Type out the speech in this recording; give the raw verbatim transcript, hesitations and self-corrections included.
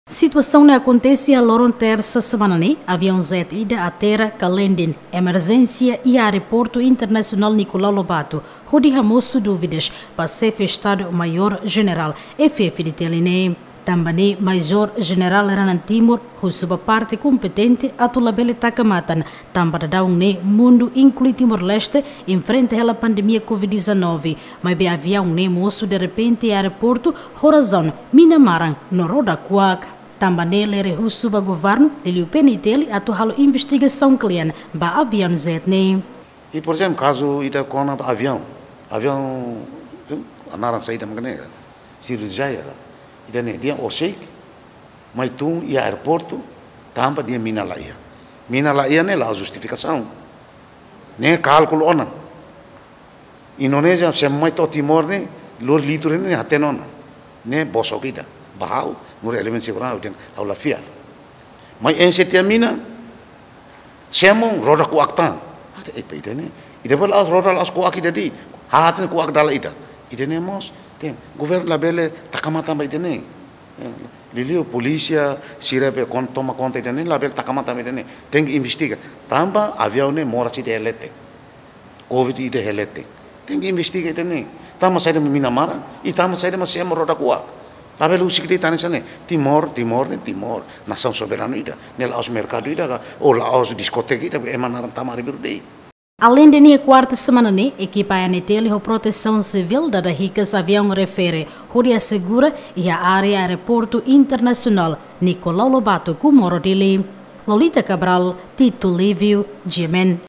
Situasaun ne'e akontese iha loron tersa semana ne'e, aviaun jet ida atera ka landing emerjénsia iha Aeroportu Internasionál Nicolau Lobato, hodi hamosu dúvidas ba Xefe Estadu Maiór Jenerál F F D T L ne'e. Tanba ne'e Maiór Jenerál Renan Timor husu ba parte kompetente atu labele taka matan, tanba daudaun ne'e mundu inklui Timor-Leste enfrenta hela pandemia covid dezanove, maibé aviaun ne'e mosu derrepente iha aeroportu ho razaun mina maran no roda kuak. Tanba ne'e Lere husu ba governu, liuliu P N T L atu halo investigasaun kle'an ba aviaun jet ne'e. I, por ezemplu, kazu ita kona-ba aviaun, aviaun, hmm, naran saida mak ne'e, Sirjaya, ita-nia, nia orsida mai tun iha aeroportu, tanba nia mina la iha. Mina la iha ne'e la'ós justifikasaun. Ne'e kálkulu ona. Indonézia semo mai to'o Timor ne'e, lori litru ne'e hatene ona. Ne'e bosok ida. Ba ha'u, nu'udar elementu seguransa, ha'u dehan ha'u la fiar. Mai enxe tiha mina, semo roda kuak tan. Ida, eh, ida-ne'e. Ida-ne'e la'ós roda, la'ós kuak ida de'it. Haat ne'e kuak dala ida. Ida-ne'e mós, dehan, governu labele taka matan ba ida-ne'e. Eh, liuliu polísia sira be kon-, toma konta ida-ne'e, labele taka matan ba ida-ne'e. Tenke investiga. Tanba aviaun ne'e moras ida iha leten. Covid ida iha leten. Tenke investiga ida-ne'e. Tanba saida mak mina maran, i tanba saida mak semo roda kuak. Labele husik de'it tan hanesan ne'e. Timor, Timor ne'e Timor, nasaun soberanu ida. Ne'e la'ós merkadu ida ka, ou la'ós diskoteka ida, ema naran tama arbiru de'it. Aleinde ne'e, kuarta semana ne'e, ekipa A N T L ho Protesaun Sivíl dada hikas aviaun refere hodi asegura iha área Aeroportu Internasionál Nicolau Lobato, Comoro, Dili. Lolita Cabral, Tito Livio, G M N.